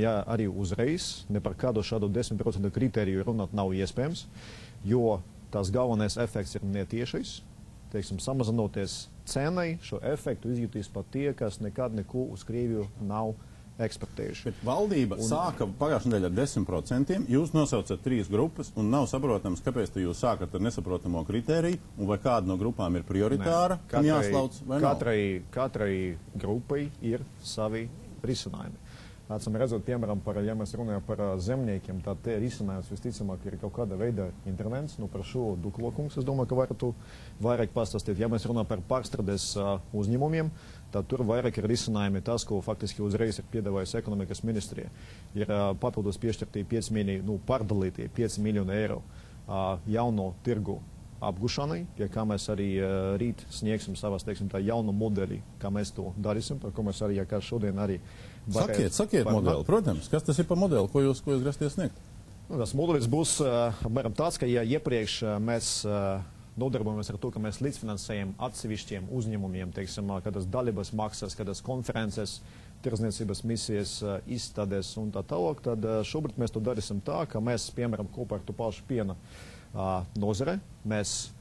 Ja arī uzreiz ne par kādu šādu 10% kritēriju runāt nav iespējams, jo tās galvenais efekts ir netiešais. Teiksim, samazinoties cenai, šo efektu izjutīs pat tie, kas nekad neko uz Krieviju nav eksportējuši. Bet valdība sāka pagājušajā nedēļā ar 10%, jūs nosaucat 3 grupas, un nav saprotams, kāpēc jūs sākat ar nesaprotamo kritēriju, un vai kāda no grupām ir prioritāra, un jāslauc, vai nav? Katrai grupai ir savi risinājumi. Acīm redzot, piemēram, ja mēs runājam par zemniekiem, tad te risinājums visticamāk ir kaut kāda veida intervents. Nu, par šo Duklokungs, es domāju, ka varētu vairāk pastāstīt. Ja mēs runājam par pārstrādes uzņēmumiem, tad tur vairāk ir risinājumi tas, ko faktiski uzreiz ir piedāvājusi ekonomikas ministrija. Ir papildus piešķirtie 5 miljoni, pārdalītie 5 miljoni eiro jauno tirgu apgušanai, pie kā mēs arī rīt sniegsim savas, teiksim, tā jaunu modeli, kā mēs to darīsim, par ko mēs arī, kā šodien arī Sakiet modeli, protams. Kas tas ir par modeli, ko jūs grasties sniegt? Nu, tas modelis būs apmēram tāds, ka ja iepriekš mēs nodarbojamies ar to, ka mēs līdzfinansējam atsevišķiem uzņēmumiem, teiksim, kādas dalības maksas, kādas konferences, tirdzniecības misijas, izstādes un tā tālāk, tad šobrīd mēs to darīsim tā, ka mēs, piemēram, kopā ar to pašu piena nozare, mēs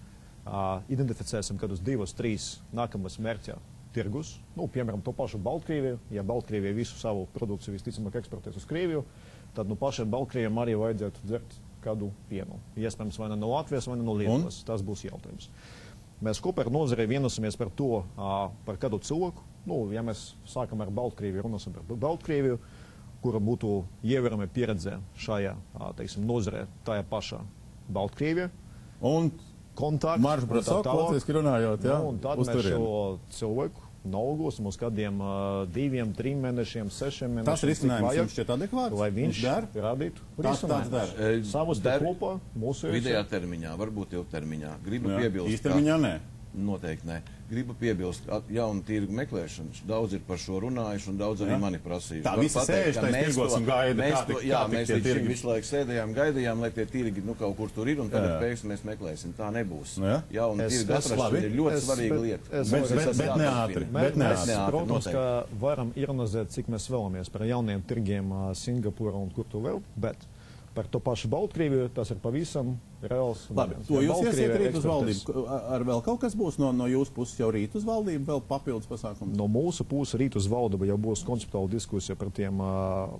identificēsim kādus 2-3 nākamas mērķa tirgus, nu, piemēram, to pašu Baltkrieviju. Ja Baltkrievija visu savu produkciju visticamāk eksportēs uz Krieviju, tad nu pašiem Baltkrieviem arī vajadzētu dzert kādu pienu. Iespējams, vai ne no Latvijas, vai ne no Lietuvas. Tas būs jautājums. Mēs kopā ar nozarei vienosimies par to, par kādu cilvēku. Nu, ja mēs sākam ar Baltkrieviju, runāsim par Baltkrieviju, kura būtu ievērojama pieredze šajā, teiksim, nozarē, tajā pašā Baltkrievija. Un kontakts. Marš Brasok, latviski runājot, jā? Nu, un tad mēs šo cilvēku nolgosim uz kādiem 2, 3 mēnešiem, 6 mēnešiem. Tas risinājums jums šķiet adekvāts? Lai viņš radītu risinājumus. Savus te kopā mūsu vidējā termiņā, varbūt ilgtermiņā. Gribu piebilst. Īstermiņā nē. Noteikti nē. Gribu piebilst, jaunu tirgu meklēšanu. Daudz ir par šo runājuši un daudz arī mani prasījuši. Tā visi sēž, tā tirgos un gaida, jā, mēs visu laiku sēdējām, gaidījām, lai tie tirgi kaut kur tur ir un tad pēkšņi mēs meklēsim. Tā nebūs. Jaunu tirgu atrašana ir ļoti svarīga lieta. Bet neātri. Mēs, protams, ka varam ironizēt, cik mēs vēlamies par jauniem tirgiem Singapūra un kur tu vēl, bet par to pašu Baltkrieviju tas ir pavisam reāls. Labi, to jūs iesiet rīt uz valdību. Ar vēl kaut kas būs no jūsu puses jau rīt uz valdību, vēl papildus pasākums? No mūsu puses rīt uz valdību jau būs konceptuāla diskusija par tiem,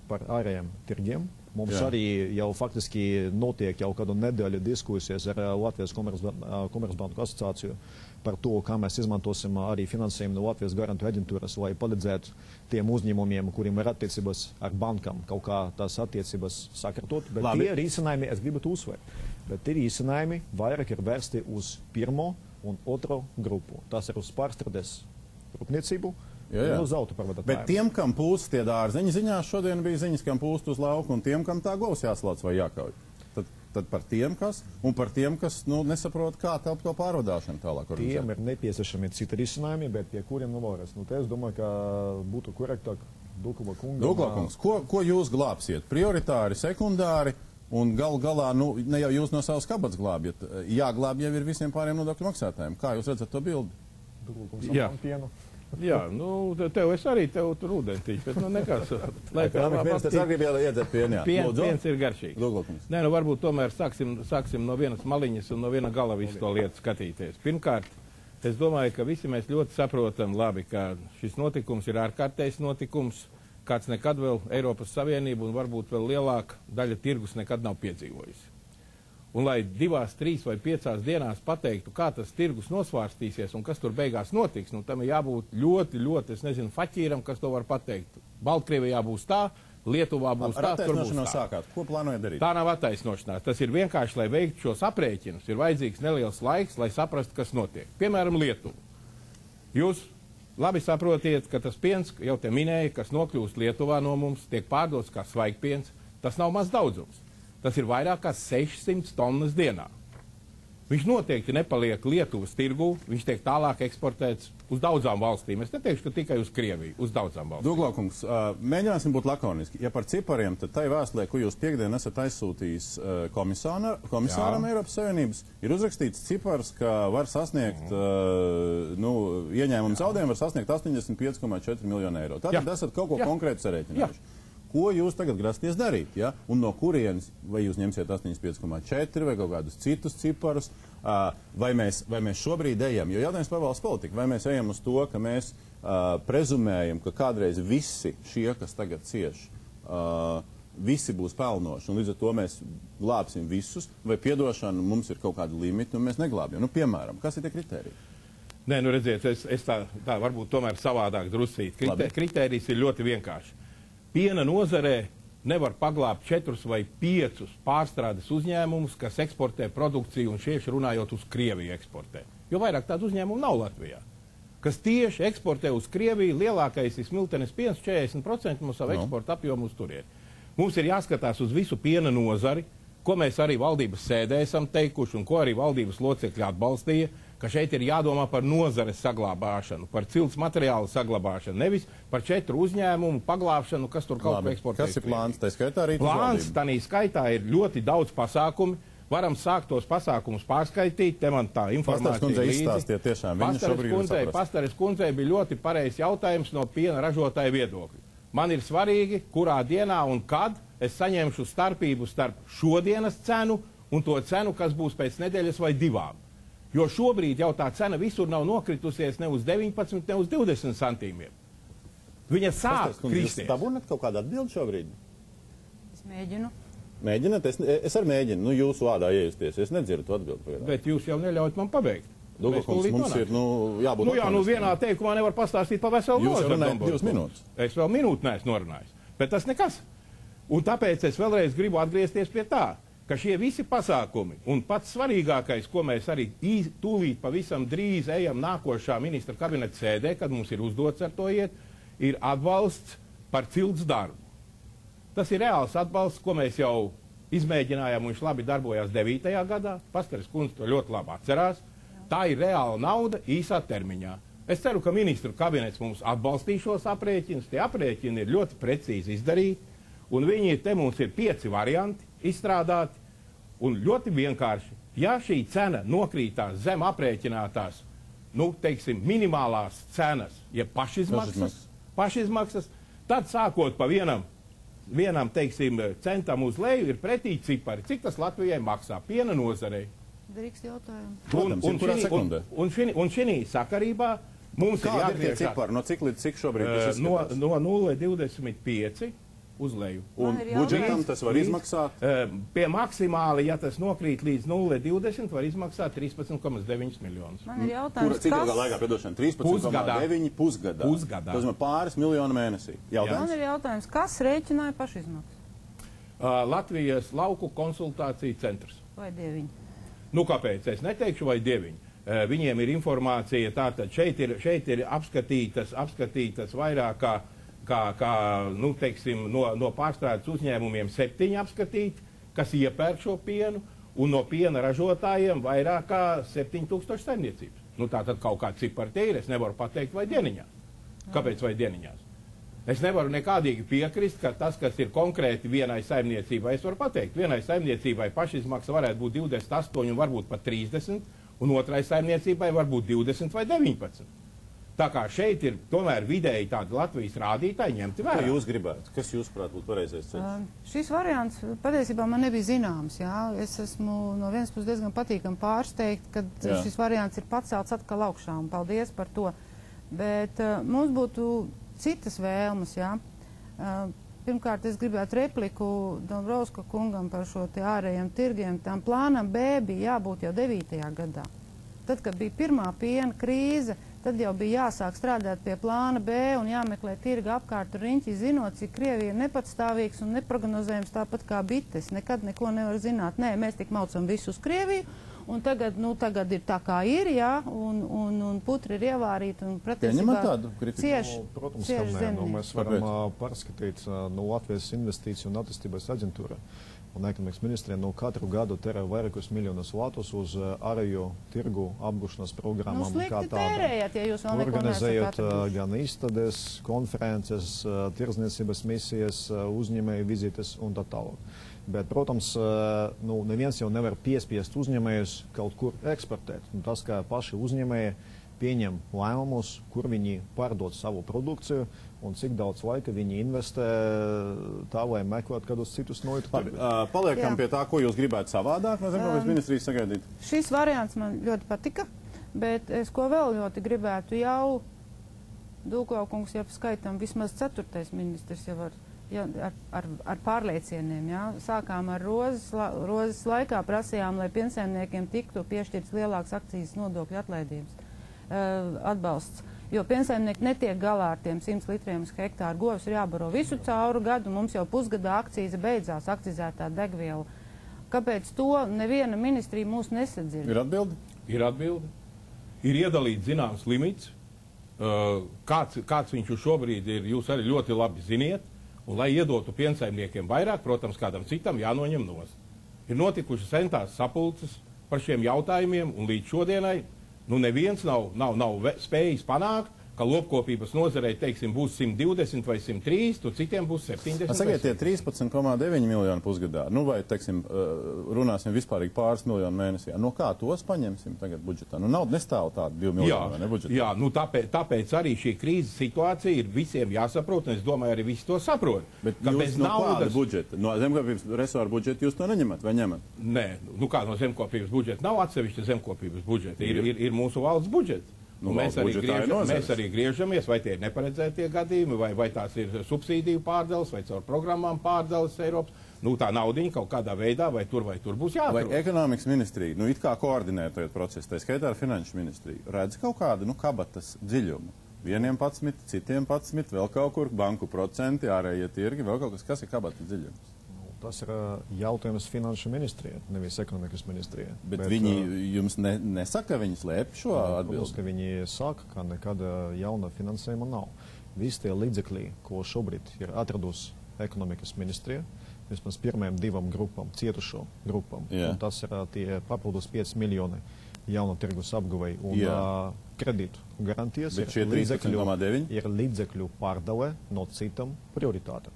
par ārējiem tirgiem. Mums arī jau faktiski notiek jau kādu nedēļu diskusijas ar Latvijas Komercbanku asociāciju par to, kā mēs izmantosim arī finansējumu no Latvijas garantu aģentūras, lai palīdzētu tiem uzņēmumiem, kuriem ir attiecības ar bankām, kaut kā tās attiecības sakārtot. Bet tie risinājumi, es gribu uzsvērt, bet tie risinājumi vairāk ir vērsti uz pirmo un otro grupu. Tas ir uz pārstrādes rūpniecību. Uz autopārvadātājiem. Bet tiem, kam pūst tie dārzeņi ziņās, šodien bija ziņas, kam pūst uz lauku, un tiem, kam tā govs jāslauc vai jākauj. Tad par tiem, kas, un par tiem, kas nesaprot, kā telp to pārvadāšanu tālāk. Tiem ir nepieciešami citi risinājumi, bet pie kuriem vēlreiz. Es domāju, ka būtu korektāk Dukla kungam. Dukla kungs, ko jūs glābsiet? Prioritāri, sekundāri, un galā, ne jau jūs no savas kabatas glābjat. Jāglāb jau ir visiem pāriem nodokļu maksātājiem. Kā jūs redzat to bildi? Dukla kungs, apmēram pienu. Jā, tev es arī tev tur ūdentīšu, bet nekas. Viens tas arī vēl iedzert pienu, jā. Piens ir garšīgs. Nē, varbūt tomēr sāksim no vienas maliņas un no viena gala visu to lietu skatīties. Pirmkārt, es domāju, ka visi mēs ļoti saprotam labi, ka šis notikums ir ārkārtējs notikums, kāds nekad vēl Eiropas Savienība un varbūt vēl lielāka daļa tirgus nekad nav piedzīvojusi. Un lai 2, 3 vai 5 dienās pateiktu, kā tas tirgus nosvārstīsies un kas tur beigās notiks, tam ir jābūt ļoti, es nezinu, faķīram, kas to var pateikt. Baltkrievijā būs tā, Lietuvā būs tā, tur būs tā. Sākāt. Ko plānojat darīt? Tā nav attaisnošanās. Tas ir vienkārši, lai veiktu šos aprēķinus, ir vajadzīgs neliels laiks, lai saprastu, kas notiek. Piemēram, Lietuva. Jūs labi saprotiet, ka tas piens, jau te minēja, kas nokļūst Lietuvā no mums, tiek pārdots kā svaigpiens, tas nav maz daudzums. Tas ir vairāk kā 600 tonnas dienā. Viņš noteikti nepaliek Lietuvas tirgū, viņš tiek tālāk eksportēts uz daudzām valstīm. Es neteikšu, ka tikai uz Krieviju, uz daudzām valstīm. Duglakungs, mēģināsim būt lakoniski. Ja par cipariem, tad tai vēstulē, ko jūs piekdien esat aizsūtījis komisāram Eiropas Savienības, ir uzrakstīts cipars, ka var sasniegt, ieņēmumu zaudējumu var sasniegt 85,4 miljonu eiro. Tātad esat kaut ko konkrētu sarēķinājuši. ko jūs tagad grasties darīt, ja? Un no kurienes, vai jūs ņemsiet 85,4 vai kaut kādus citus ciparus, vai mēs šobrīd ejam, jo jautājums par valsts politiku, vai mēs ejam uz to, ka mēs prezumējam, ka kādreiz visi šie, kas tagad cieš, visi būs pelnoši, un līdz ar to mēs glābsim visus, vai piedošana mums ir kaut kāda limita, un mēs neglābjam. Nu, piemēram, kas ir tie kritēriji? Nē, nu redziet, es tā varbūt tomēr savādāk drusīt. Kritērijs ir ļoti vienkārši. Piena nozarē nevar paglābt 4 vai 5 pārstrādes uzņēmumus, kas eksportē produkciju un šieši runājot uz Krieviju eksportē. Jo vairāk tādu uzņēmumu nav Latvijā. Kas tieši eksportē uz Krieviju, lielākais ir smiltenes piens, 40% no savu eksporta apjomu uz turieni. Mums ir jāskatās uz visu piena nozari, ko mēs arī valdības sēdē esam teikuši un ko arī valdības locekļi atbalstīja, ka šeit ir jādomā par nozares saglabāšanu, par cilts materiālu saglabāšanu, nevis par 4 uzņēmumu paglābšanu, kas tur kaut ko eksportē. Kas ir plāns? Tā skaitā arī plāns, tanī skaitā ir ļoti daudz pasākumi. Varam sākt tos pasākumus pārskaitīt, te man tā informācija līdzi. Pastares kundzei bija ļoti pareizs jautājums no piena ražotāja viedokļa. Man ir svarīgi, kurā dienā un kad es saņemšu starpību starp šodienas cenu un to cenu, kas būs pēc nedēļas vai 2. Jo šobrīd jau tā cena visur nav nokritusies ne uz 19, ne uz 20 centīmiem. Viņa sāk kristies. Jūs dabūnat kaut kādu atbildi šobrīd? Es mēģinu. Mēģināt? Es arī mēģinu. Nu, jūsu vārdā iejusties. Es nedzirdu atbildi. Bet jūs jau neļaujat man pabeigt. Douglas, mums ir jābūt... Nu jā, vienā teikumā nevar pastāstīt pa veselu nozaru. Jūs runājat 2 minūtes. Es vēl minūti neesmu norunājis. Bet tas nekas. Un tāpēc es vēlreiz gribu atgriezties pie tā, ka šie visi pasākumi un pats svarīgākais, ko mēs arī tūlīt pavisam drīz ejam nākošā ministra kabineta sēdē, kad mums ir uzdots ar to iet, ir atbalsts par cilts darbu. Tas ir reāls atbalsts, ko mēs jau izmēģinājām, un viņš labi darbojās 9. gadā. Pastares kundze to ļoti labi atcerās. Tā ir reāla nauda īsā termiņā. Es ceru, ka ministru kabinets mums atbalstīs šos aprēķinus. Tie aprēķini ir ļoti precīzi izdarīti, un viņi te mums ir 5 varianti izstrādāti, un ļoti vienkārši. Ja šī cena nokrītās zem aprēķinātās, nu, teiksim, minimālās cenas, ja pašizmaksas, tad sākot pa vienam, teiksim, centam uz leju ir pretī cipari. Cik tas Latvijai maksā piena nozarei? Drīkst jautājumu. Un šī sakarībā mums ir jāatgriežās. Cipari? No cik līdz cik šobrīd? No 0,25 uz leju. Un budžetam tas var izmaksāt? Pie maksimāli, ja tas nokrīt līdz 0,20, var izmaksāt 13,9 miljonus. Man ir jautājums, cik ilgā laikā, piedošana? 13,9 pusgadā. Tas ir pāris miljonu mēnesī. Man ir jautājums, kas rēķināja pašizmaksas? Latvijas lauku konsultāciju centrs. Vai 9? Nu, kāpēc? Es neteikšu, vai 9. Viņiem ir informācija, tātad šeit ir apskatītas vairāk kā nu, teiksim, no pārstrādes uzņēmumiem 7 apskatīti, kas iepērk šo pienu, un no piena ražotājiem vairāk kā 7000 saimniecības. Nu, tātad kaut kā cipari tie ir, es nevaru pateikt, vai dieniņās. Kāpēc vai dieniņās? Es nevaru nekādīgi piekrist, ka tas, kas ir konkrēti vienai saimniecībai, es varu pateikt, vienai saimniecībai pašizmaksa varētu būt 28 un varbūt pat 30, un otrai saimniecībai var būt 20 vai 19. Tā kā šeit ir tomēr vidēji tādi Latvijas rādītāji ņemti vērā. Ko jūs gribētu? Kas jūs, prāt, būtu pareizais ceļš? Šis variants patiesībā man nebija zināms. Jā. Es esmu no vienas puses diezgan patīkami pārsteigt, kad šis variants ir pacelts atkal augšā, un paldies par to. Bet mums būtu citas vēlmes, jā. Pirmkārt, es gribētu repliku Dombrovska kungam par šo te ārējiem tirgiem. Tam plānam B bija jābūt jau 9. gadā. Tad, kad bija pirmā piena krīze, tad jau bija jāsāk strādāt pie plāna B un jāmeklē tirga apkārt riņķi, zinot, cik Krievija ir nepatstāvīgs un neprognozējams tāpat kā bites. Nekad neko nevar zināt. Nē, mēs tik maucam visu uz Krieviju. Un tagad ir tā, kā ir, jā, un putri ir ievārīti, un patiesībā Protams, ka nē, mēs varam pārskatīt no Latvijas investīciju un attīstības aģentūra un ekonomikas ministrija katru gadu terē vairākus miljonus latus uz ārējo tirgu apgūšanas programmām. Slikti tērējat, ja jūs vēl neko organizējot gan izstādes, konferences, tirdzniecības misijas, uzņēmēju vizītes un tā tālāk. Bet, protams, neviens jau nevar piespiest uzņēmējus kaut kur eksportēt. Tas, kā paši uzņēmēji pieņem lēmumus, kur viņi pārdod savu produkciju un cik daudz laika viņi investē tā, lai meklētu kādus citus noitu tirgus. Paliekam pie tā, ko jūs gribētu savādāk no Zemkopības ministrijas sagaidīt. Šis variants man ļoti patika, bet es ko vēl ļoti gribētu jau Dūklau-kungs jau skaitam vismaz 4. ministrs jau ar pārliecieniem. Ja? Sākām ar rozes laikā, prasījām, lai piensaimniekiem tiktu piešķirts lielāks akcijas nodokļu atlaidības atbalsts. Jo piensaimnieki netiek galā ar tiem 100 litriem uz hektāru. Govs ir jābaro visu cauru gadu, mums jau pusgadā akcīze beidzās, akcizētā degviela. Kāpēc to neviena ministrija mūs nesadzird? Ir atbildi? Ir atbildi. Ir iedalīts zināms limits. Kāds viņš šobrīd ir, jūs arī ļoti labi ziniet. Un, lai iedotu piensaimniekiem vairāk, protams, kādam citam jānoņem nost. Ir notikušas centās sapulces par šiem jautājumiem, un līdz šodienai neviens nav spējis panākt, ka lopkopības nozarei, teiksim, būs 120 vai 103, tu citiem būs 70. Sakiet, tie 13,9 miljoni pusgadā, vai, teiksim, runāsim vispārīgi pāris miljonu mēnesī. No kā tos paņemsim tagad budžetā? Nauda nestāv tāda 2 miljonu, ne budžetā? Jā, tāpēc arī šī krīzes situācija ir visiem jāsaprot, un es domāju, arī visi to saprot. Bet jūs no kāda budžeta? No Zemkopības resora budžeta jūs to neņemat vai ņemat? Nē, kā no Zemkopības budžeta? Nav atsevišķa Zemkopības budžeta. Ir mūsu valsts budžets. Mēs arī griežamies, vai tie ir neparedzētie gadījumi, vai tās ir subsīdiju pārdales, vai caur programmām pārdales Eiropas. Tā naudiņa kaut kādā veidā, vai tur būs jāatrod. Vai ekonomikas ministrija, it kā koordinē to procesu, tā skaitā ar finanšu ministriju, redz kaut kādu, kabatas dziļumu? Vieniem 11, citiem 11, vēl kaut kur banku procenti, ārējie tirgi, vēl kaut kas ir kabatas dziļums? Tas ir jautājums finanšu ministrijai, nevis ekonomikas ministrijai. Bet viņi jums nesaka, ka viņi slēp šo atbildi? Protams, ka viņi saka, ka nekāda jauna finansējuma nav. Visi tie līdzekļi, ko šobrīd ir atradusi ekonomikas ministrija, vismaz pirmajām 2 grupām, cietušo grupām, un tas ir tie papildus 5 miljoni jaunu tirgus apguvei un kredītu garantijas. Bet šie 13,9 ir līdzekļu pārdale no citam prioritāte.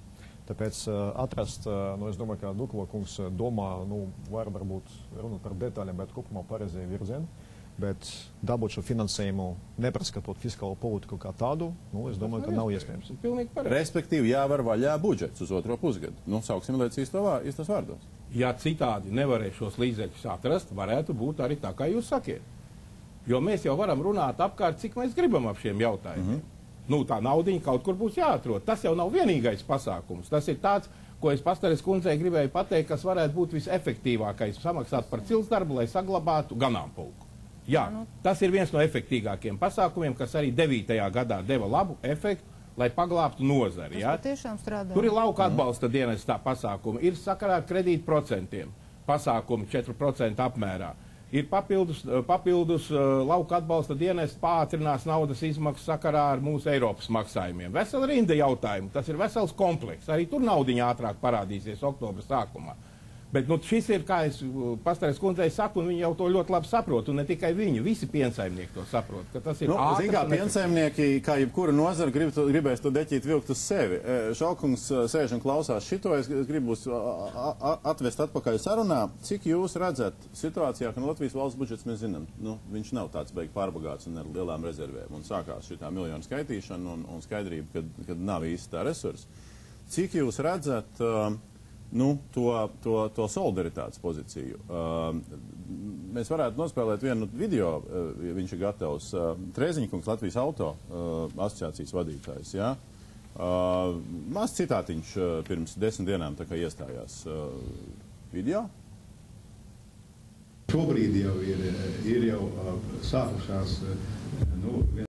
Tāpēc atrast, es domāju, ka Dūklau-kungs domā, varbūt runāt par detaļām, bet kopumā pareizajā virzienā. Bet dabūt šo finansējumu, nepraskatot fiskālo politiku kā tādu, es domāju, ka nav iespējams. Respektīvi, jāvar vaļā budžets uz otro pusgadu. Sauksim lietas īstos vārdos. Ja citādi nevarēs šos līdzekļus atrast, varētu būt arī tā, kā jūs sakiet. Jo mēs jau varam runāt apkārt, cik mēs gribam ap šiem jautājumiem. Tā naudiņa kaut kur būs jāatrod. Tas jau nav vienīgais pasākums. Tas ir tāds, ko es Pastares kundzei gribēju pateikt, kas varētu būt visefektīvākais samaksāt par ciltsdarbu, lai saglabātu ganāmpulku. Jā, tas ir viens no efektīgākiem pasākumiem, kas arī 9. gadā deva labu efektu, lai paglābtu nozari. Tur ir lauka atbalsta dienestā pasākumi, ir sakarā ar kredītprocentiem pasākumi 4% apmērā. Ir papildus lauka atbalsta dienests pātrinās naudas izmaksas sakarā ar mūsu Eiropas maksājumiem. Vesela rinda jautājumu, tas ir vesels komplekss. Arī tur naudiņa ātrāk parādīsies oktobra sākumā. Bet šis ir, kā es Pastares kundzei saku, un viņi jau to ļoti labi saprot, un ne tikai viņi, visi piensaimnieki to saprot, ka tas ir ātrs. Kā piensaimnieki, kā jebkura nozara, gribēs to deķīt vilkt uz sevi. Šalkungs sēž un klausās šito, es gribu atvest atpakaļ sarunā. Cik jūs redzat situācijā, ka Latvijas valsts budžets, mēs zinām, viņš nav tāds beig pārbagāts un ar lielām rezervēm, un sākās šitā miljonu skaitīšana un skaidrība, kad nav īsti tā resursi. Cik jūs redzat to solidaritātes pozīciju? Mēs varētu nospēlēt vienu video, ja viņš ir gatavs. Trēziņkungs, Latvijas auto asociācijas vadītājs, jā. Maz citātiņš pirms 10 dienām tā kā iestājās video. Šobrīd jau ir jau sākušās,